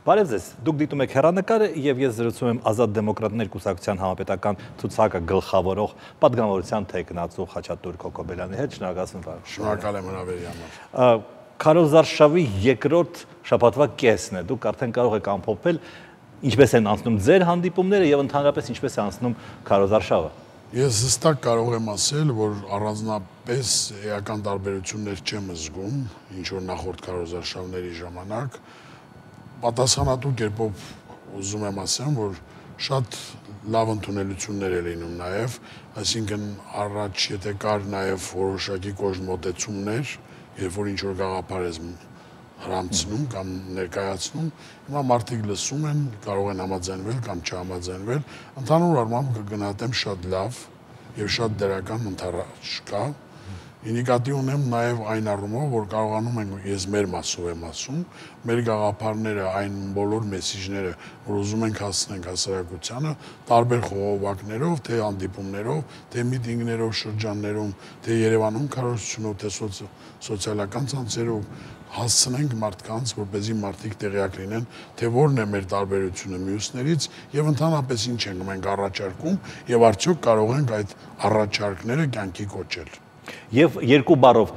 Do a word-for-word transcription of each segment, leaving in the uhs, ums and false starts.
Բարև ձեզ, դուք դիտում եք հեռանկարը եւ ես զրուցում եմ Ազատ դեմոկրատներ կուսակցության համապետական ցուցակը գլխավորող պատգամավորության թեկնածու Խաչատուր Քոքոբելյանի հետ։ Շնորհակալություն բարև։ Շնորհակալ եմ հրավերի համար։ Քարոզարշավի երկրորդ շաբաթվա կեսն է, դուք արդեն կարող եք ամփոփել ինչպես են անցնում ձեր հանդիպումները եւ ընդհանրապես ինչպես է անցնում քարոզարշավը։ Ես հստակ կարող եմ ասել, որ առանձնապես էական տարբերություններ չեմ զգում, ինչ որ նախորդ քարոզարշավների ժամանակ։ Պատասխանատու կերպով ուզում եմ ասեմ, որ շատ լավ ընդունելություններ է լինում նաև, այսինքն առաջ եթե կար նաև որոշակի կոշտ մոտեցումներ, երբ որ ինչ որ գաղափար ես հրամցնում կամ ներկայացնում, հիմա մարդիկ լսում են, կարող են համաձայնվել կամ չհամաձայնվել, ընդհանուր առմամբ կգնահատեմ շատ լավ եւ շատ դրական ընթരാճ կա։ Ինդիկատիվ ունեմ նաև այն առումով, որ կարողանում ենք, ես մեր մասով եմ ասում, մեր գաղափարները, այն բոլոր մեսիջները, որ ուզում ենք հասցնենք հասարակությանը, տարբեր խողովակներով, թե հանդիպումներով, թե միտինգներով, շրջաններում, թե Երևանում քարոզությունով, թե սոցիալական ցանցերով հասցնենք մարդկանց, որպեսզի մարդիկ տեղյակ լինեն, թե որն է մեր տարբերությունը մյուսներից եւ ընդհանրապես ինչ ենք մենք առաջարկում եւ արդյոք կարող ենք այդ առաջարկները կյանքի կոչել։ Եվ երկու բառով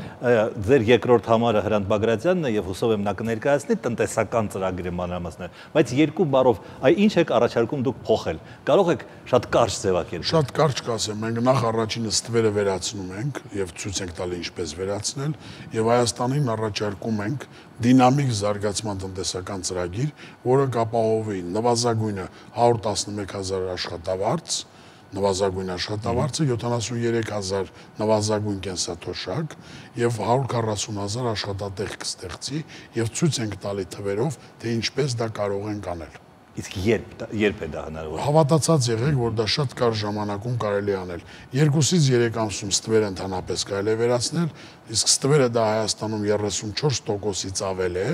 ձեր երկրորդ համարը Հրանտ Բագրատյանն է եւ հուսով եմ նա կներկայացնի տնտեսական ծրագրի մանրամասները, բայց երկու բառով այ ինչ եք առաջարկում դուք փոխել։ Կարող եք շատ կարճ ձևակերպել։ Շատ կարճ կասեմ, մենք նախ առաջինը ստվերը վերացնում ենք եւ ցույց ենք տալի ինչպես վերացնել եւ Հայաստանին առաջարկում ենք դինամիկ զարգացման տնտեսական ծրագիր, որը կապահովի նվազագույնը հարյուր տասնմեկ հազար աշխատավարձ, նվազագույն աշխատավարձը, յոթանասուններեք հազար նվազագույն կենսաթոշակ եւ հարյուր քառասուն հազար աշխատատեղ կստեղծի եւ ցույց ենք տալի թվերով, թե ինչպես դա կարող ենք անել։ Իսկ երբ երբ է դա հնարավոր։ Հավատացած եղեք, որ դա շատ կարճ ժամանակում կարելի է անել։ Երկուսից երեք ամսում ստվերը ընդհանրապես կարելի է վերացնել, իսկ ստվերը դա Հայաստանում երեսունչորս տոկոսից ավել է,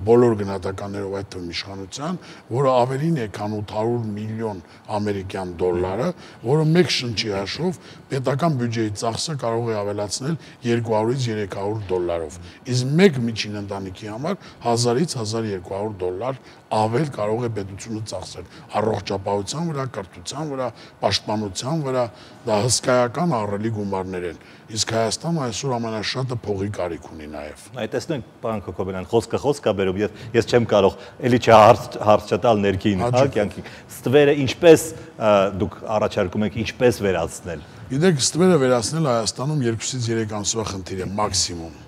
բոլոր գնահատականներով այդ թվում իշխանության, որը ավելին է, քան ութ հարյուր միլիոն ամերիկյան դոլարը, որը մեկ շնչի հաշվով պետական բյուջեի ծախսը կարող է ավելացնել երկու հարյուրից երեք հարյուր դոլարով։ Իսկ մեկ միջին ընտանիքի համար հազարից հազար երկու հարյուր դոլար ավել կարող է պետությունը ծախսել առողջապահության վրա, կրթության վրա, պաշտպանության վրա, դա հսկայական ահռելի գումարներ են։ Իսկ Հայաստանը այսօր ամենաշատը փողի կարիք ունի նաև։ Այդ տեսնենք, պարոն Քոքոբելյան, խոսքը խոսք է բերում, ես ես չեմ կարող էլի չհարց չտալ ներքին, հա, կյանքի։ Ստվերը ինչպես դուք առաջարկում եք ինչպես վերացնել։ Գիտեք, ստվերը վերացնել Հայաստանում երկուսից երեք ամսվա խնդիր է մաքսիմում։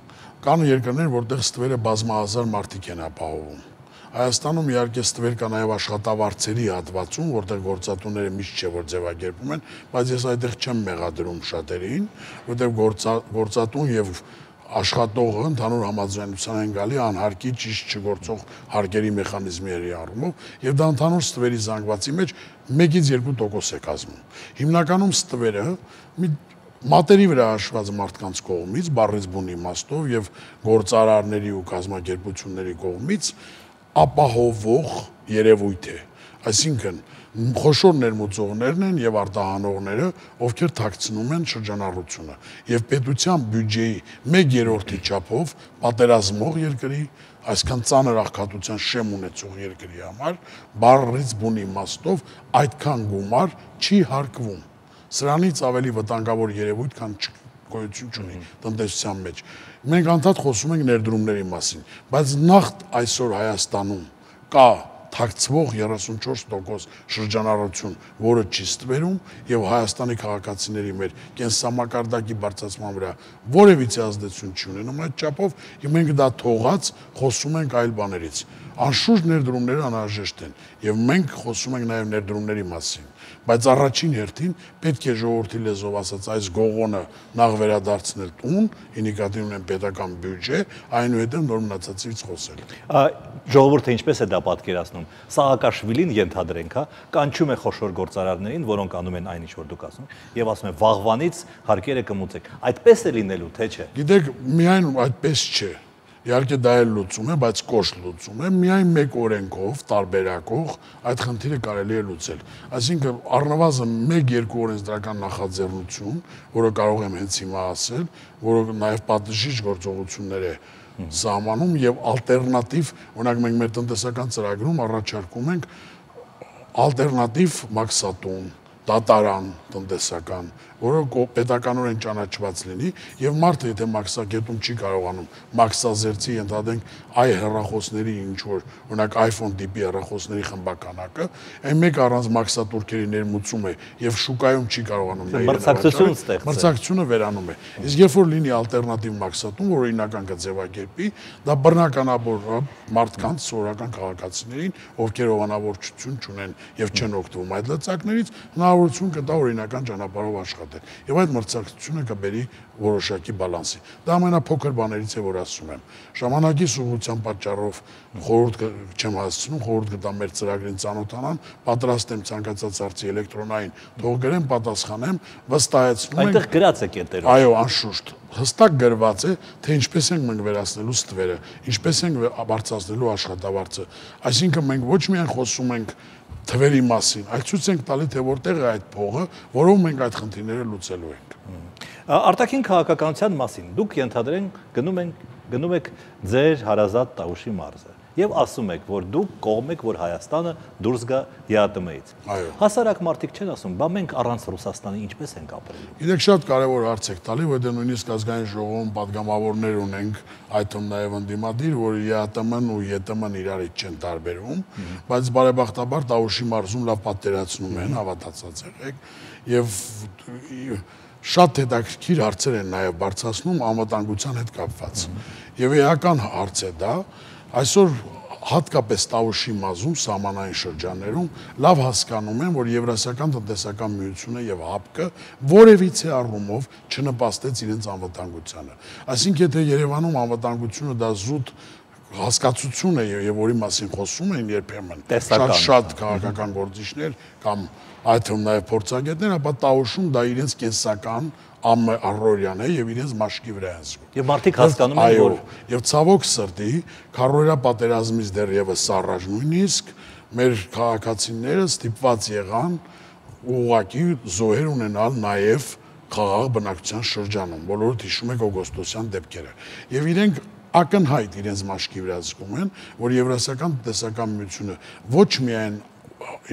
Կան երկրներ, որտեղ ստվերը բազմահազար մարդիկ են ապահովում։ Հայաստանում իհարկե ստվեր կա նաև աշխատավարձերի հատվածում, որտեղ գործատուները միշտ չէ որ ձևակերպում են, բայց ես այդտեղ չեմ մեղադրում շատերին, որտեղ գործատուն եւ աշխատողը ընդհանուր համաձայնության են գալի անհարկի ճիշտ չգործող հարկերի մեխանիզմների առումով եւ դա ընդհանուր ստվերի զանգվածի մեջ մեկից երկու տոկոս է կազմում։ Հիմնականում ստվերը մի մատերի վրա հաշված մարդկանց կողմից, բառից բուն իմաստով եւ գործարարների ու կազմակերպությունների կողմից ապահովող երևույթ է, այսինքն խոշոր ներմուծողներն են եւ արտահանողները, ովքեր թաքցնում են շրջանառությունը եւ պետության բյուջեի մեկ երրորդի չափով պատերազմող երկրի, այսքան ծանր աղքատության շեմ ունեցող երկրի համար բառից բուն իմաստով այդքան գումար չի հարկվում։ Սրանից ավելի վտանգավոր երևույթ, քան գոյություն չունի տնտեսության մեջ։ Մենք անդադ խոսում ենք ներդրումների մասին, բայց նախ այսօր Հայաստանում կա թաքցվող երեսունչորս տոկոս շրջանառություն, որը չի ստվերում եւ Հայաստանի քաղաքացիների մեր կենսամակարդակի բարձրացման վրա որևիցե ազդեցություն չի ունենում այդ չափով, եւ մենք դա թողած խոսում ենք այլ բաներից։ Անշուշտ ներդրումները անհրաժեշտ են եւ մենք խոսում ենք նաեւ ներդրումների մասին, բայց առաջին հերթին պետք է ժողովրդի լեզվով ասած այս գողոնը նախ վերադարձնել տուն, ինդիկատիվ ունեն պետական բյուջե, այնուհետև նոր մնացածից խոսել։ Ժողովուրդը ինչպես է դա պատկերացնում։ Սաակաշվիլին ենթադրենք, հա, կանչում է խոշոր գործարարներին, որոնք անում են այն ինչ որ դուք ասում, եւ ասում են վաղվանից հարկերը կմուծեք։ Այդպես է լինելու, թե չէ։ Գիտեք, միայն այդպես չէ։ Իհարկե դա էլ լուծում է, բայց կոշտ լուծում է, միայն մեկ օրենքով, տարբերակող այդ խնդիրը կարելի է լուծել։ Այսինքն առնվազն մեկ-երկու օրենսդրական նախաձեռնություն, որը կարող եմ հենց հիմա ասել, որը նաև պատժիչ գործողություններ է սահմանում եւ ալտերնատիվ, օրինակ մենք մեր տնտեսական ծրագրում առաջարկում ենք ալտերնատիվ մաքսատուն, դատարան տնտեսական, որը պետականորեն ճանաչված լինի եւ մարդը եթե մաքսակետում չի կարողանում մաքսազերծի ընդհանրենք այ հեռախոսների ինչ որ օրինակ iPhone տիպի հեռախոսների խմբականակը, այն մեկ առանց մաքսատուրքերի ներմուծում է եւ շուկայում չի կարողանում մրցակցություն ստեղծել։ Մրցակցությունը վերանում է։ Իսկ երբ որ լինի ալտերնատիվ մաքսատուն, որ օրինական կձևակերպի, դա բռնականաբար մարդկանց սովորական քաղաքացիներին, ովքեր հովանավորչություն չունեն եւ չեն օգտվում այդ լծակներից, հնարավորություն կտա օրինական ճանապարհով աշխատել։ Եվ այդ մրցակցությունը կբերի որոշակի բալանսի։ Դա ամենափոքր բաներից է, որ ասում եմ։ Ժամանակի սուղության պատճառով խորհուրդ չեմ հասցնում, խորհուրդ կտամ մեր ծրագրին ծանոթանան, պատրաստ եմ ցանկացած հարցի էլեկտրոնային թող գրեմ, պատասխանեմ, վստահեցնում եմ։ Այնտեղ գրած է կետերով։ Այո, անշուշտ, հստակ գրված է, թե ինչպես ենք մենք վերացնելու ստվերը, ինչպես ենք բարձրացնելու աշխատավարձը։ Այսինքն մենք ոչ միայն խոսում ենք թվերի մասին, այլ ցույց ենք տալի, թե որտեղ է այդ փողը, որով մենք այդ խնդիրները լուծելու ենք։ Արտաքին քաղաքականության մասին դուք ենթադրենք գնում եք գնում եք ձեր հարազատ Տավուշի մարզը եւ ասում եք, որ դուք կողմ եք, որ Հայաստանը դուրս գա ԵԱՏՄ-ից։ Հասարակ մարդիկ չեն ասում, բա մենք առանց Ռուսաստանի ինչպես ենք ապրելու։ Գիտեք, շատ կարևոր հարց եք տալի, որտեղ նույնիսկ ազգային ժողովում падգամավորներ ունենք, այդ թվում նաեւ ընդդիմադիր, որ ԵԱՏՄ-ն ու ԵՏՄ-ն իրարից չեն տարբերվում, բայց բարեբախտաբար Տավուշի մարզում լավ պատերացնում են, հավատացած եղեք, եւ շատ հետաքրքիր հարցեր են նաեւ բարձրացնում անվտանգության հետ կապված։ Եվ էական հարց է դա, այսօր հատկապես Տավուշի մարզում սահմանային շրջաններում լավ հասկանում են, որ Եվրասիական տնտեսական միությունը եւ ՀԱՊԿ-ը որևիցե առումով չնպաստեց իրենց անվտանգությանը։ Այսինքն եթե Երևանում անվտանգությունը դա զուտ հասկացություն է եւ որի մասին խոսում են երբեմն շատ շատ քաղաքական գործիչներ կամ այդ թվում նաեւ փորձագետներ, ապա Տավուշում դա իրենց կենսական առօրյան է եւ իրենց մաշկի վրա են զգում։ Եվ մարդիկ հասկանում են, որ եւ ցավոք սրտի քարոզիա պատերազմից դեռևս առաջ նույնիսկ մեր քաղաքացիները ստիպված եղան ուղղակի զոհեր ունենալ նաեւ խաղաղ բնակչության շրջանում, բոլորդ հիշում եք օգոստոսյան դեպքերը։ Եվ իրենք ակնհայտ իրենց մաշկի վրա զգում են, որ Եվրասիական տնտեսական միությունը ոչ միայն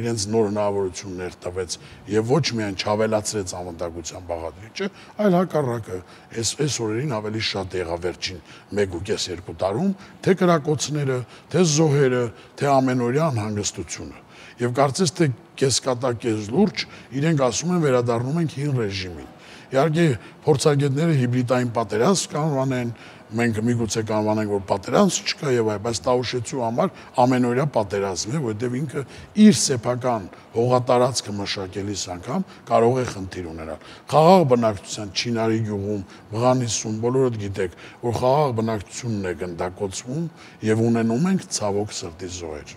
իրենց նոր հնարավորություններ տվեց եւ ոչ միայն չավելացրեց անվտանգության բաղադրիչը, այլ հակառակը, այս այս օրերին ավելի շատ եղավ վերջին մեկ ու կես երկու տարում, թե կրակոցները, թե զոհերը, թե ամենօրյա անհանգստությունը։ Եվ կարծես թե կեսկատակ կես լուրջ իրենք ասում են վերադառնում ենք հին ռեժիմին։ Իհարկե փորձագետները հիբրիդային պատերազմ կանոնեն, մենք միգուցե կանոնենք, որ պատերազմ չկա եւ այլ, բայց Տավուշեցու համար ամենօրյա պատերազմ է, որտեղ ինքը իր սեփական հողատարածքը մշակելիս անգամ կարող է խնդիր ունենալ։ Խաղաղ բնակչության Չինարի գյուղում, Բղանիսում բոլորդ գիտեք, որ խաղաղ բնակչությունն է գնդակոծվում եւ ունենում ենք ցավոք սրտի զոհեր։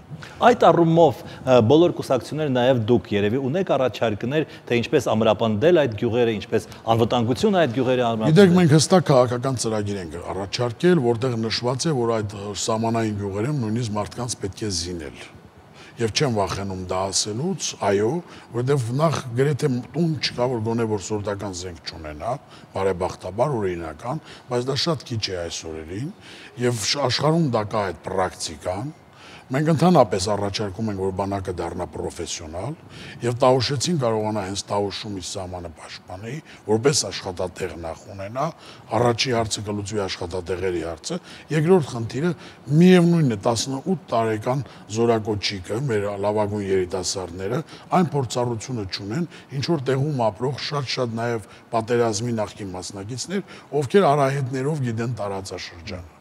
Այդ առումով բոլոր կուսակցությունները նաեւ դուք երևի ունեք առաջարկներ, թե ինչպես ամրապնդել այդ գյուղերը, ինչպես անվտանգություն այդ գյուղերի ամրապնդել։ Գիտեք, մենք հստակ քաղաքական ծրագիր ենք առաջարկել, որտեղ նշված է, որ այդ սահմանային գյուղերում նույնիսկ մարդկանց պետք է զինել։ Եվ չեմ վախենում դա ասելուց, այո, որտեղ նախ գրեթե տուն չկա, որ գոնե որ սորտական զենք չունենա, բարեբախտաբար օրինական, բայց դա շատ քիչ է այս օրերին, եւ աշխարհում դա կա այդ պրակտիկան։ Մենք ընդհանրապես առաջարկում ենք, որ բանակը դառնա պրոֆեսիոնալ եւ Տավուշեցին կարողանա հենց Տավուշում իր սահմանը պաշտպանի, որպես աշխատատեղ նախ ունենա, առաջի հարցը կլուծվի աշխատատեղերի հարցը, երկրորդ խնդիրը միևնույնն է տասնութ տարեկան զորակոչիկը, մեր լավագույն երիտասարդները այն փորձառությունը չունեն, ինչ որ տեղում ապրող շատ-շատ նաեւ պատերազմի նախկին մասնակիցներ, ովքեր արահետներով գիտեն տարածաշրջանը։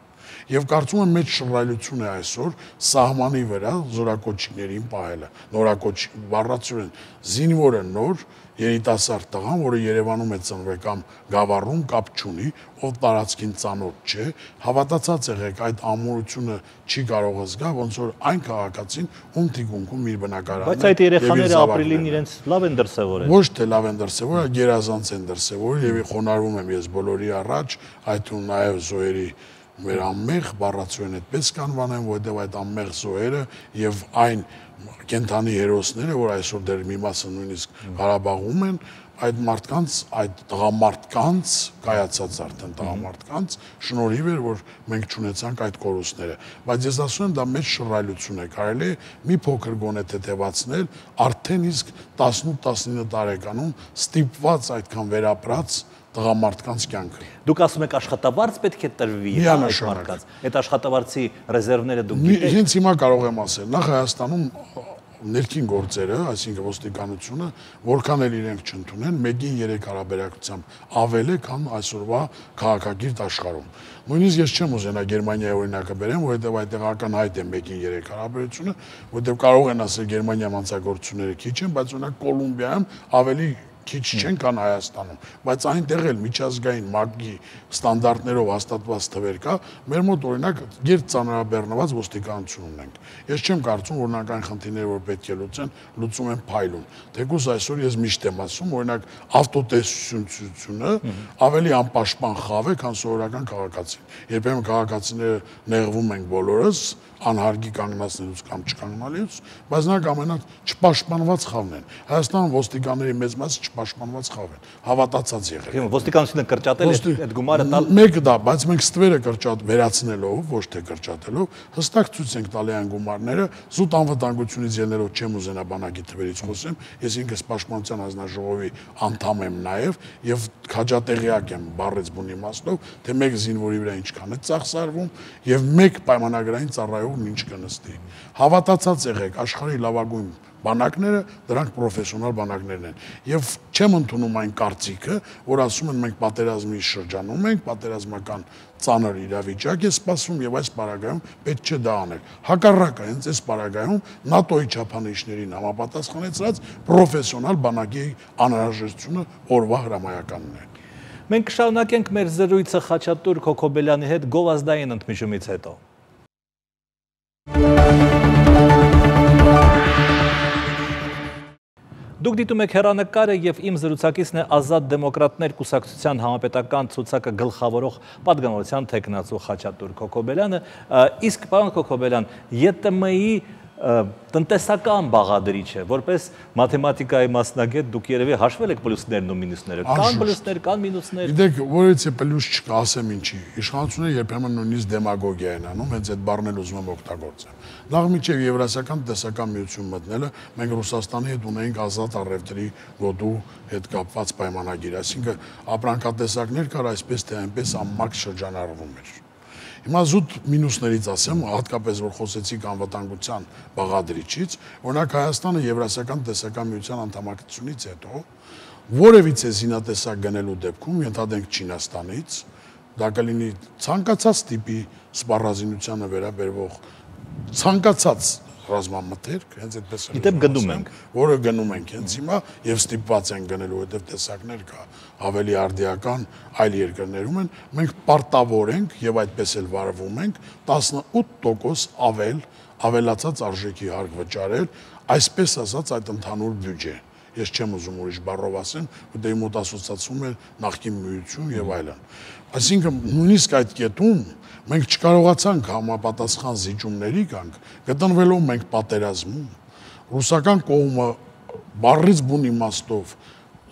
Եվ կարծում եմ մեծ շռայլություն է այսօր սահմանի վրա զորակոչիկներին պահելը, նորակոչ բառացիորեն զինվորը նոր երիտասարդ տղան, որը Երևանում է ծնվել կամ Գավառում կապ չունի, ով տարածքին ծանոթ չէ, հավատացած եղեք այդ ամուրությունը չի կարող զգա, ոնց որ այն քաղաքացին ում թիկունքում իր բնակարանն է։ Բայց այդ երեխաները ապրիլին իրենց լավ են դրսևորել։ Ոչ թե լավ են դրսևորել, այլ գերազանց են դրսևորել եւ խոնարհվում եմ ես բոլորի առաջ, այդ ու նաեւ զոհերի մեր անմեղ բառացիորեն այդպես կանվանեմ, որովհետև այդ անմեղ զոհերը եւ այն կենթանի հերոսները, որ այսօր դեռ մի մասը նույնիսկ Ղարաբաղում են, այդ մարդկանց, այդ տղամարդկանց, կայացած արդեն տղամարդկանց շնորհիվ էր, որ մենք չունեցանք այդ կորուստները։ Բայց ես ասում եմ, դա մեծ շռայլություն է, կարելի է մի փոքր գոնե թեթևացնել, արդեն իսկ տասնութ տասնինը տարեկանում ստիպված այդքան վերապրած տղամարդկանց կյանքը։ Դուք ասում եք աշխատավարձ պետք է տրվի այդ մարդկանց։ Այդ աշխատավարձի ռեզերվները դուք գիտեք։ Հենց հիմա կարող եմ ասել, նախ Հայաստանում ներքին գործերը, այսինքն ոստիկանությունը, որքան էլ իրենք չընդունեն, մեկին երեք հարաբերակցությամբ ավել է, քան այսօրվա քաղաքակիրթ աշխարհում։ Նույնիսկ ես չեմ ուզենա Գերմանիայի օրինակը բերեմ, որովհետև այդտեղ ակնհայտ է մեկին երեք հարաբերությունը, որովհետև կարող են ասել Գերմանիայում անցագործությունները քիչ են, բայց օրինակ Կոլումբիայում ավելի քիչ չեն, քան Հայաստանում, բայց այնտեղ էլ միջազգային ՄԱԿ-ի ստանդարտներով հաստատված թվեր կա, մեր մոտ օրինակ գերծանրաբեռնված ոստիկանություն ունենք։ Ես չեմ կարծում, որ նրանք այն խնդիրները, որ պետք է լուծեն, լուծում են փայլուն։ Թեկուզ այսօր ես միշտ եմ ասում, օրինակ ավտոտեսությունը ավելի անպաշտպան խավ է, քան սովորական քաղաքացին։ Երբեմն քաղաքացիները նեղվում ենք բոլորս, անհարգի կանգնացնելուց կամ չկանգնալուց, բայց նրանք ամենակ չպաշտպանված խավն են։ Հայաստանում ոստիկանների մեծ մասը չպաշտպանված խավ են, հավատացած եղել։ Ոստիկանությունը կրճատել է այդ գումարը տալ։ Մեկը դա, բայց մենք ստվերը կրճատ վերացնելով, ոչ թե կրճատելով, հստակ ցույց ենք տալի այն գումարները, զուտ անվտանգությունից ելնելով չեմ ուզենա բանակի թվերից խոսեմ, ես ինքս պաշտպանության հանձնաժողովի անդամ եմ նաև եւ քաջատեղյակ եմ բառից բուն իմաստով, թե մեկ զինվորի վրա ինչքան է ծախսարվում եւ մեկ պայմանագրային ծառայողն ինչ կնստի։ Հավատացած եղեք, աշխարհի լավագույն բանակները դրանք պրոֆեսիոնալ բանակներն են եւ չեմ ընդունում այն կարծիքը, որ ասում են մենք պատերազմի շրջանում ենք, պատերազմական ծանր իրավիճակ է սպասվում եւ այս պարագայում պետք չէ դա անել։ Հակառակը, հենց այս պարագայում ՆԱՏՕ-ի չափանիշներին համապատասխանեցրած պրոֆեսիոնալ բանակի անհրաժեշտությունը օրվա հրամայականն է։ Մենք կշարունակենք մեր զրույցը Խաչատուր Քոքոբելյանի հետ գովազդային ընդմիջումից հետո։ Դուք դիտում եք հեռանկարը եւ իմ զրուցակիցն է Ազատ դեմոկրատներ կուսակցության համապետական ցուցակը գլխավորող պատգամավորության թեկնածու Խաչատուր Քոքոբելյանը, իսկ պարոն Քոքոբելյան, ԵՏՄ-ի տնտեսական բաղադրիչ է, որպես մաթեմատիկայի մասնագետ դուք երևի հաշվել եք պլյուսներն ու մինուսները, կան պլյուսներ, կան մինուսներ։ Գիտեք, որից է պլյուս չկա, ասեմ ինչի, իշխանությունը երբեմն նույնիսկ դեմագոգիա են անում, հենց այդ բառն էլ ուզում եմ օգտագործեմ։ Նախ մինչև Եվրասիական տնտեսական միություն մտնելը մենք Ռուսաստանի հետ ունեինք ազատ առևտրի գոտու հետ կապված պայմանագիր, այսինքն ապրանքատեսակներ կար այսպես թե այնպես անմարդ շրջանառվում էր։ Հիմա զուտ մինուսներից ասեմ, հատկապես որ խոսեցիք անվտանգության բաղադրիչից, օրինակ Հայաստանը Եվրասիական տնտեսական միության անդամակցությունից հետո որևիցե զինատեսակ գնելու դեպքում ենթադրենք Չինաստանից, դա կլինի ցանկացած տիպի սպառազինությանը վերաբերող ցանկացած ռազմամթերք, հենց այդպես է։ Գիտեմ գնում ենք, որը գնում ենք հենց հիմա եւ ստիպված են գնելու, որովհետեւ տեսակներ կա ավելի արդիական այլ երկրներում են, մենք պարտավոր ենք եւ այդպես էլ վարվում ենք տասնութ տոկոս ավել ավելացած արժեքի հարկ վճարել, այսպես ասած այդ ընդհանուր բյուջե։ Ես չեմ ուզում ուրիշ բառով ասեմ, որտեղ մոտ ասոցացվում է նախկին միություն եւ այլն։ Այսինքն նույնիսկ այդ կետում մենք չկարողացանք համապատասխան զիջումների գանք, գտնվելով մենք պատերազմում, ռուսական կողմը բառից բուն իմաստով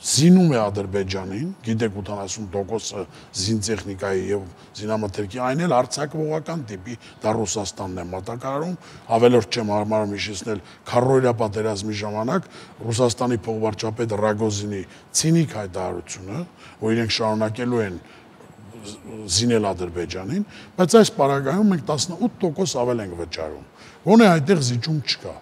զինում է Ադրբեջանին, գիտեք ութանասուն տոկոսը զինտեխնիկայի եւ զինամթերքի, այն էլ արձակողական տիպի, դա Ռուսաստանն է մատակարարում, ավելորդ չեմ հարմարում հիշեցնել քառորյա պատերազմի ժամանակ Ռուսաստանի փոխվարչապետ Ռագոզինի ցինիկ հայտարարությունը, որ իրենք շարունակելու են զինել Ադրբեջանին, բայց այս պարագայում մենք տասնութ տոկոս ավել ենք վճարում։ Գոնե այդտեղ զիջում չկա։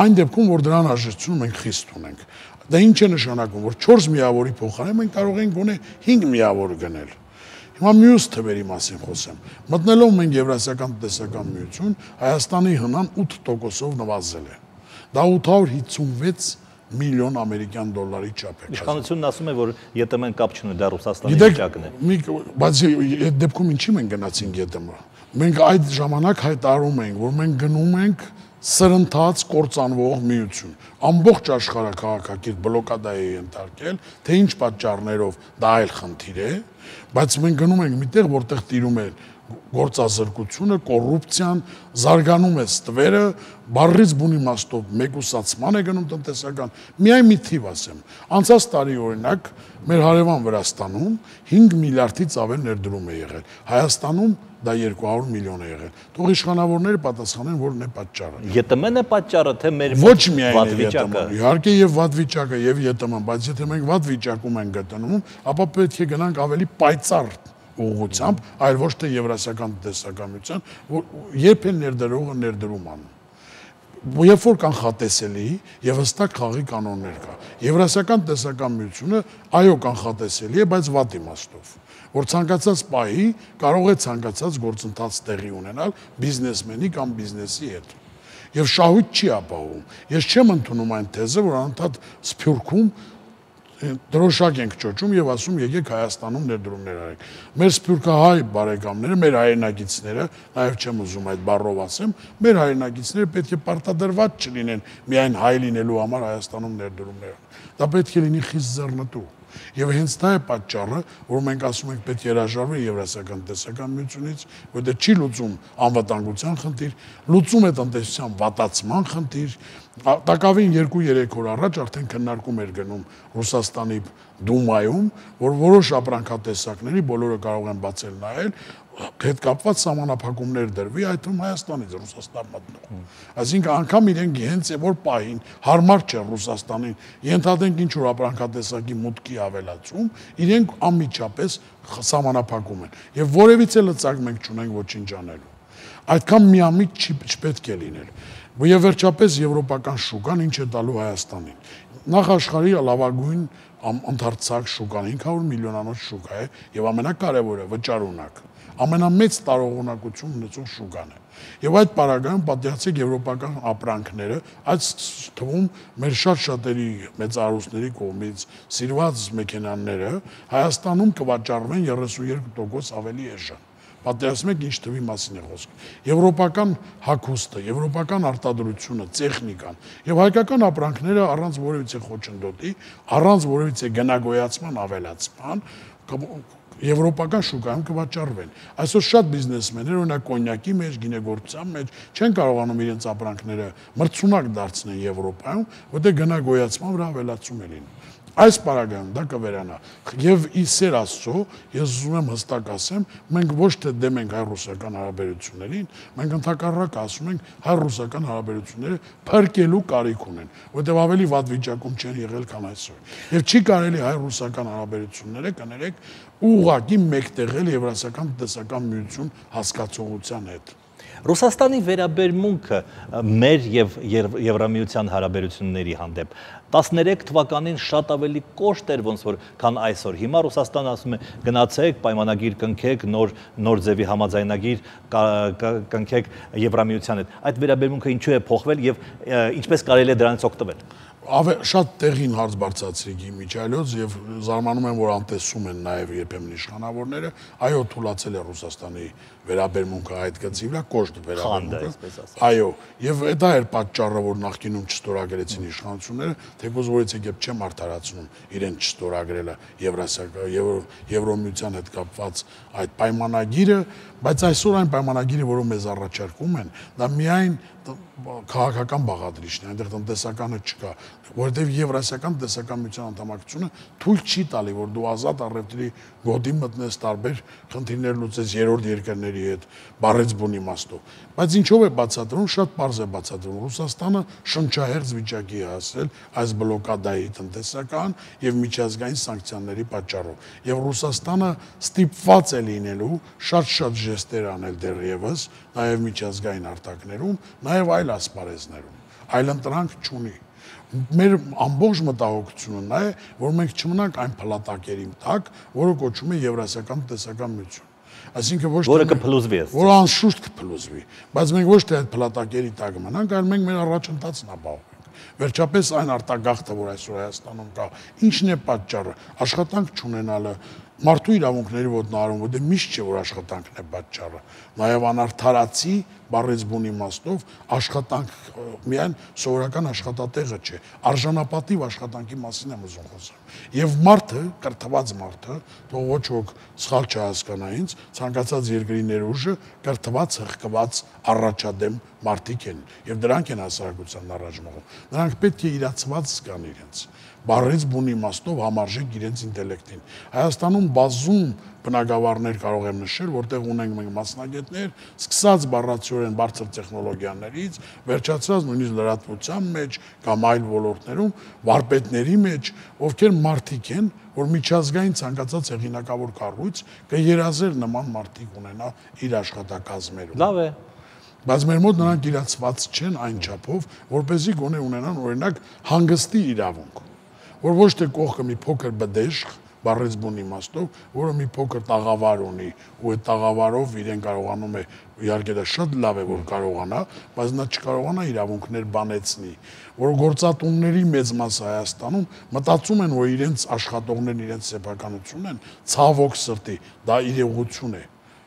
Այն դեպքում, որ դրան հաշվետվություն մենք խիստ ունենք։ Դա ինչ է նշանակում, որ չորս միավորի փոխարեն մենք կարող ենք գոնե հինգ միավոր գնել։ Հիմա մյուս թվերի մասին խոսեմ։ Մտնելով մենք Եվրասիական տնտեսական միություն, Հայաստանի հնան ութ տոկոսով նվազել է։ Դա ութ հարյուր հիսունվեց միլիոն ամերիկյան դոլարի չափ է։ Իշխանությունն ասում է, որ ԵՏՄ-ն կապ չունի, դա Ռուսաստանի վիճակն է։ Բայց այդ դեպքում ինչի մենք գնացինք ԵՏՄ։ Մենք այդ ժամանակ հայտարարում ենք, որ մենք գնում ենք սրընթաց կործանվող միություն։ Ամբողջ աշխարհը քաղաքակիրթ բլոկադա է ենթարկել, թե ինչ պատճառներով դա այլ խնդիր է, Բայց մենք գնում ենք միտեղ, որտեղ տիրում է գործազրկությունը, կոռուպցիան, զարգանում է ստվերը, բառից բուն իմաստով մեկուսացման է գնում տնտեսական։ Միայն մի թիվ ասեմ։ Անցած տարի օրինակ մեր հարևան Վրաստանում հինգ միլիարդից ավել ներդրում է եղել։ Հայաստանում դա երկու հարյուր միլիոն է եղել։ Թող իշխանավորները պատասխանեն, որն է պատճառը։ ԵՏՄ-ն է պատճառը, թե մեր ոչ միայն վատ վիճակը։ Իհարկե եւ վատ վիճակը եւ ԵՏՄ-ն, բայց եթե մենք վատ վիճակում ենք գտնվում, ապա պետք է գնանք ավելի պայծառ ուղղությամբ, այլ ոչ թե եվրասիական տնտեսականության, որ երբ է ներդրողը ներդրում անում։ Երբ որ կանխատեսելի եւ հստակ խաղի կանոններ կա։ Եվրասիական տնտեսական միությունը այո կանխատեսելի է, բայց վատ իմաստով, որ ցանկացած պահի կարող է ցանկացած գործընթաց տեղի ունենալ բիզնեսմենի կամ բիզնեսի հետ։ Եվ շահույթ չի ապահովում։ Ես չեմ ընդունում այն թեզը, որ անընդհատ Սփյուռքում դրոշակ ենք ճոճում եւ ասում եկեք Հայաստանում ներդրումներ արեք։ Մեր սփյուռքահայ բարեկամները, մեր հայրենակիցները, նաեւ չեմ ուզում այդ բառով ասեմ, մեր հայրենակիցները պետք է պարտադրված չլինեն միայն հայ լինելու համար Հայաստանում ներդրումներ։ Դա պետք է լինի խիստ ձեռնտու։ Եվ հենց դա է պատճառը, որ մենք ասում ենք պետք է հրաժարվել Եվրասիական տնտեսական միությունից, որտեղ չի լուծում անվտանգության խնդիր, լուծում է տնտեսության վատացման խնդիր։ Տակավին երկու-երեք օր առաջ արդեն քննարկում էր գնում Ռուսաստանի Դումայում, որ որոշ ապրանքատեսակների բոլորը կարող են բացել նայել, հետ կապված սահմանափակումներ դրվի, այդ թվում Հայաստանից Ռուսաստան մտնող։ Այսինքն անգամ իրենք հենց որ պահին հարմար չէ Ռուսաստանին, ենթադրենք ինչ որ ապրանքատեսակի մուտքի ավելացում, իրենք անմիջապես սահմանափակում են։ Եվ որևիցե լծակ մենք չունենք ոչինչ անելու։ Այդքան միամիտ չպետք է լինել։ Եվ վերջապես եվրոպական շուկան ինչ է տալու Հայաստանին։ Նախ աշխարհի լավագույն ընդարձակ շուկան հինգ հարյուր միլիոնանոց շուկա է եւ ամենակարևորը վճարունակ։ Ամենամեծ տարողունակություն ունեցող շուկան է։ Եվ այդ պարագայում պատկերացրեք եվրոպական ապրանքները, այդ թվում մեր շատ շատերի մեծարուսների կողմից սիրված մեքենաները Հայաստանում կվաճառվեն երեսունյոթ տոկոս ավելի էժան։ Պատերազմում եք ինչ թվի մասին է խոսքը։ Եվրոպական հագուստը, եվրոպական արտադրությունը, տեխնիկան եւ հայկական ապրանքները առանց որևիցե խոչընդոտի, առանց որևիցե գնագոյացման ավելացման եվրոպական շուկայում կվաճառվեն։ Այսօր շատ բիզնեսմեններ օրինակ կոնյակի մեջ, գինեգործության մեջ չեն կարողանում իրենց ապրանքները մրցունակ դարձնել Եվրոպայում, որտեղ գնագոյացման վրա ավելացում է լինում։ Այս պարագայում դա կվերանա։ Եվ ի սեր Աստծո, ես ուզում եմ հստակ ասեմ, մենք ոչ թե դեմ ենք հայ-ռուսական հարաբերություններին, մենք ընդհակառակը ասում ենք հայ-ռուսական հարաբերությունները փրկելու կարիք ունեն, որտեղ ավելի վատ վիճակում չեն եղել, քան այսօր։ Եվ չի կարելի հայ-ռուսական հարաբերությունները կներեք ուղղակի մեկտեղել Եվրասիական տնտեսական միություն հասկացողության հետ։ Ռուսաստանի վերաբերմունքը մեր եւ Եվրամիության հարաբերությունների հանդեպ տասներեք թվականին շատ ավելի կոշտ էր ոնց որ քան այսօր։ Հիմա Ռուսաստանը ասում է գնացեք, պայմանագիր կնքեք, նոր նոր ձևի համաձայնագիր կնքեք Եվրամիության հետ։ Այդ վերաբերմունքը ինչու է փոխվել եւ ինչպես կարելի է դրանից օգտվել։ Շատ տեղին հարց բարձրացրիք իմիջիայլոց եւ զարմանում եմ, որ անտեսում են նաեւ երբեմն իշխանավորները, այո, թույլաtsել է Ռուսաստանի վերաբերմունքը այդ գծի վրա, կոշտ վերաբերմունքը։ Այո, եւ դա էր պատճառը, որ նախկինում չստորագրեցին իշխանությունները, թեկուզ որից եկեպ չեմ արդարացնում իրեն չստորագրելը Եվրասիական Եվրոմիության հետ կապված այդ պայմանագիրը, բայց այսօր այն պայմանագիրը, որը մեզ առաջարկում են, դա միայն քաղաքական բաղադրիչն է, այնտեղ տնտեսականը չկա, որովհետև Եվրասիական տնտեսական միության անդամակցությունը թույլ չի տալի, որ դու ազատ առևտրի գոտի մտնես, տարբեր խնդիրներ լուծես երրորդ երկրների հետ, բառից բուն իմաստով։ Բայց ինչով է բացատրում, շատ պարզ է բացատրում։ Ռուսաստանը շնչահեղձ վիճակի է հասել այս բլոկադայի տնտեսական եւ միջազգային սանկցիաների պատճառով։ Եվ Ռուսաստանը ստիպված է լինելու շատ-շատ ժեստեր անել դեռևս, նաեւ միջազգային արտակներում, նաեւ այլ ասպարեզներում։ Այլընտրանք չունի։ Մեր ամբողջ մտահոգությունը նա է, որ մենք չմնանք այն փլատակերի տակ, որը կոչվում է Եվրասիական տնտեսական միություն։ Այսինքն ոչ թե որը կփլուզվի, որ անշուշտ կփլուզվի, բայց մենք ոչ թե այդ փլատակերի տակ մնանք, այլ մենք մեր առաջընթացն ապահովենք։ Վերջապես այն արտագաղթը, որ այսօր Հայաստանում կա, ինչն է պատճառը, աշխատանք չունենալը, մարդու իրավունքների ոտնահարում, որտեղ միշտ չէ, որ աշխատանքն է պատճառը, նաև անարդարացի բառից բուն իմաստով աշխատանք միայն սովորական աշխատատեղը չէ, արժանապատիվ աշխատանքի մասին եմ ուզում խոսել։ Եվ մարդը, կրթված մարդը, թող ոչ ոք սխալ չհասկանա ինձ, ցանկացած երկրի ներուժը կրթված, հղկված, առաջադեմ մարդիկ են, եւ դրանք են հասարակության առաջ մղում։ Նրանք պետք է իրացված զգան իրենց, բառից բուն իմաստով համարժեք իրենց ինտելեկտին։ Հայաստանում բազում բնագավառներ կարող եմ նշել, որտեղ ունենք մենք մասնագետներ, սկսած բառացիորեն բարձր տեխնոլոգիաներից, վերջացած նույնիսկ լրատվության մեջ կամ այլ ոլորտներում, վարպետների մեջ, ովքեր մարդիկ են, որ միջազգային ցանկացած հեղինակավոր կառույց կերազեր նման մարդիկ ունենա իր աշխատակազմերում։ Լավ է։ Բայց մեր մոտ նրանք իրացված չեն այն չափով, որպեսզի գոնե ունենան օրինակ հանգստի իրավունք, որ ոչ թե կողքը մի փոքր բդեշխ, բառից բուն իմաստով, որը մի փոքր տաղավար ունի, ու այդ տաղավարով իրեն կարողանում է, իհարկե դա շատ լավ է, որ կարողանա, բայց նա չկարողանա իրավունքներ բանեցնի, որ գործատունների մեծ մասը Հայաստանում մտածում են, որ իրենց աշխատողներն իրենց սեփականությունն են, ցավոք սրտի, դա իրողություն է։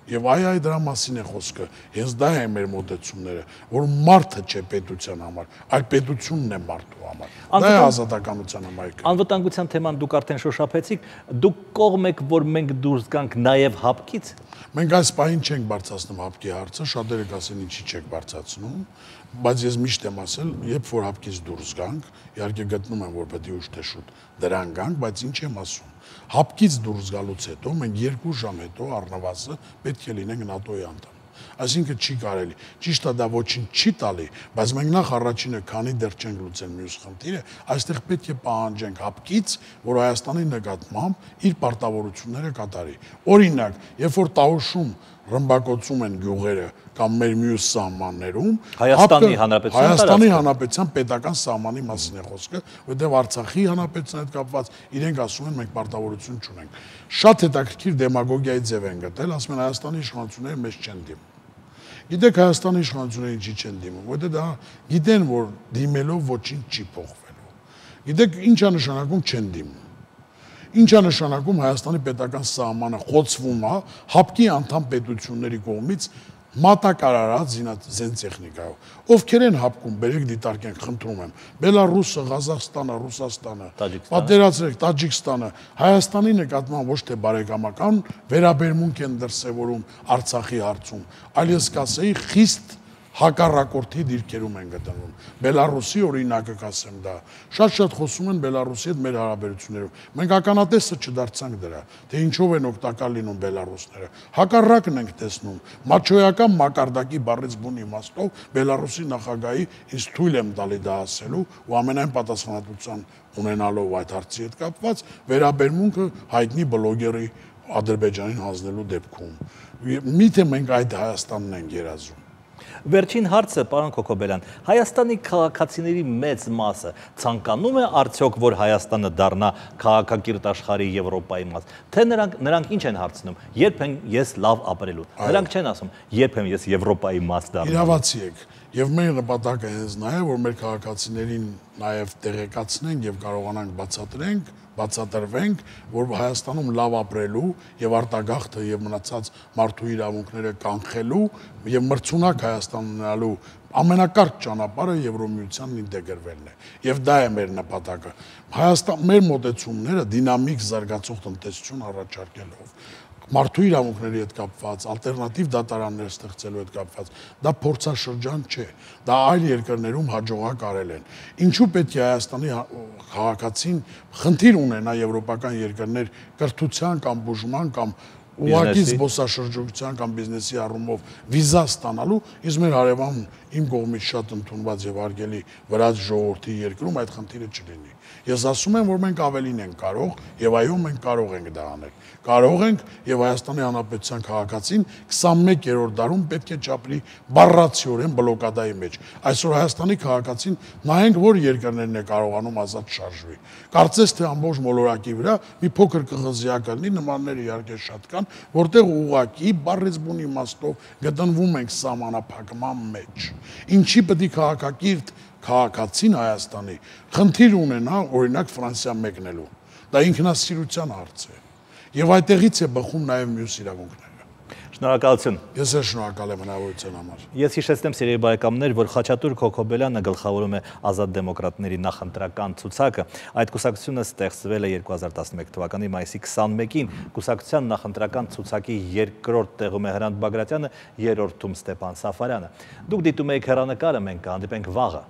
Եվ այ այ դրա մասին է խոսքը, հենց դա է մեր մոտեցումները, որ մարդը չէ պետության համար, այլ պետությունն է մարդու համար։ Դա է ազատականության համայնքը։ Անվտանգության թեման դուք արդեն շոշափեցիք, դուք կողմ եք, որ մենք դուրս գանք նաև հապկից։ Մենք այս պահին չենք բարձրացնում հապկի հարցը, շատերը կասեն ինչի չեք բարձրացնում, բայց ես միշտ եմ ասել, երբ որ հապկից դուրս գանք, իհարկե գտնում եմ, որ պետք է ուշ թե շուտ դրան գանք, բայց ինչ եմ ասում։ Հապկից դուրս գալուց հետո մենք երկու ժամ հետո առնվազն պետք է լինենք ՆԱՏՕ-ի անդամ։ Այսինքն չի կարելի։ Ճիշտ է, դա ոչինչ չի տալի, բայց մենք նախ առաջինը, քանի դեռ չենք լուծել մյուս խնդիրը, այստեղ պետք է պահանջենք հապկից, որ Հայաստանի նկատմամբ իր պարտավորությունները կատարի։ Օրինակ, երբ որ Տաուշում ռմբակոծում են գյուղերը կամ մեր մյուս սահմաններում, Հայաստանի Հանրապետության Հայաստանի Հանրապետության պետական սահմանի մասին է խոսքը, որտեղ Արցախի Հանրապետության հետ կապված իրենք ասում են մենք պարտավորություն չունենք։ Շատ հետաքրքիր դեմագոգիայի ձև են գտել, ասում են Հայաստանի իշխանությունները մեզ չեն դիմում։ Գիտեք Հայաստանի իշխանությունները ինչի չեն դիմում, որտեղ դա գիտեն, որ դիմելով ոչինչ չի փոխվելու։ Գիտեք ինչ է նշանակում չեն դիմում։ Ինչ է նշանակում Հայաստանի պետական սահմանը խոցվում է հապկի անդամ պետությունների կողմից մատակարարած զենտեխնիկայով։ Ովքեր են հապկում, բերեք դիտարկենք, խնդրում եմ։ Բելարուսը, Ղազախստանը, Ռուսաստանը, պատերացրեք Տաջիկստանը, Հայաստանի նկատմամբ ոչ թե բարեկամական վերաբերմունք են դրսևորում Արցախի հարցում, այլ ես կասեի խիստ հակառակորդի դիրքերում են գտնվում։ Բելարուսի օրինակը կասեմ դա։ Շատ-շատ խոսում են Բելարուսի հետ մեր հարաբերություններով։ Մենք ականատեսը չդարձանք դրա, թե ինչով են օգտակար լինում բելարուսները։ Հակառակն ենք տեսնում։ Մաչոյական մակարդակի բառից բուն իմաստով Բելարուսի նախագահի ինձ թույլ եմ տալի դա ասելու ու ամենայն պատասխանատվության ունենալով այդ հարցի հետ կապված վերաբերմունքը հայտնի բլոգերի Ադրբեջանին հանձնելու դեպքում։ Միթե մենք այդ Հայաստանն ենք երազում։ Վերջին հարցը, պարոն Քոքոբելյան, Հայաստանի քաղաքացիների մեծ մասը ցանկանում է արդյոք, որ Հայաստանը դառնա քաղաքակիրթ աշխարհի Եվրոպայի մաս, թե նրանք նրանք ինչ են հարցնում, երբ են ես լավ ապրելու։ Նրանք չեն ասում, երբ եմ ես Եվրոպայի մաս դառնալու։ Իրավացի եք, եւ մեր նպատակը հենց նա է, որ մեր քաղաքացիներին նաեւ տեղեկացնենք եւ կարողանանք բացատրենք, բացատրվենք, որ Հայաստանում լավ ապրելու եւ արտագաղթը եւ մնացած մարդու իրավունքները կանխելու եւ մրցունակ Հայաստան ունենալու ամենակարճ ճանապարհը Եվրոմիությանն ինտեգրվելն է եւ դա է մեր նպատակը։ Հայաստան մեր մոտեցումները դինամիկ զարգացող տնտեսություն առաջարկելով մարդու իրավունքների հետ կապված, ալտերնատիվ դատարաններ ստեղծելու հետ կապված, դա փորձաշրջան չէ, դա այլ երկրներում հաջողակ արել են։ Ինչու պետք է Հայաստանի քաղաքացին խնդիր ունենա եվրոպական երկրներ կրթության կամ բուժման կամ ուղղակի զբոսաշրջության կամ բիզնեսի առումով վիզա ստանալու, իսկ մեր հարևան իմ կողմից շատ ընդունված եւ հարգելի վրաց ժողովրդի երկրում այդ խնդիրը չլինի։ Ես ասում եմ, որ մենք ավելին ենք կարող եւ այո, մենք կարող ենք դա անել։ Կարող ենք եւ Հայաստանի Հանրապետության քաղաքացին քսանմեկերորդ դարում պետք է ճապլի բառացիորեն բլոկադայի մեջ։ Այսօր Հայաստանի քաղաքացին նայենք, որ երկրներն է կարողանում ազատ շարժվի։ Կարծես թե ամբողջ մոլորակի վրա մի փոքր կղզիակ լինի, նմանները իհարկե շատ կան, որտեղ ուղղակի բառից բուն իմաստով գտնվում ենք սահմանափակման մեջ։ Ինչի պետք է քաղաքակիրթ քաղաքացին Հայաստանի խնդիր ունենա օրինակ Ֆրանսիա մեկնելու։ Դա ինքնասիրության հարց է։ Եվ այդտեղից է բխում նաև մյուս իրավունքները։ Շնորհակալություն։ Ես էլ շնորհակալ եմ հնարավորության համար։ Ես հիշեցնեմ, սիրելի բարեկամներ, որ Խաչատուր Քոքոբելյանը գլխավորում է Ազատ դեմոկրատների նախընտրական ցուցակը։ Այդ կուսակցությունը ստեղծվել է երկու հազար տասնմեկ թվականի մայիսի քսանմեկին։ Կուսակցության նախընտրական ցուցակի երկրորդ տեղում է Հրանտ Բագրատյանը, երրորդում Ստեփան Սաֆարյանը։ Դուք դիտում եք հեռանկարը, մենք կհանդիպենք վաղը։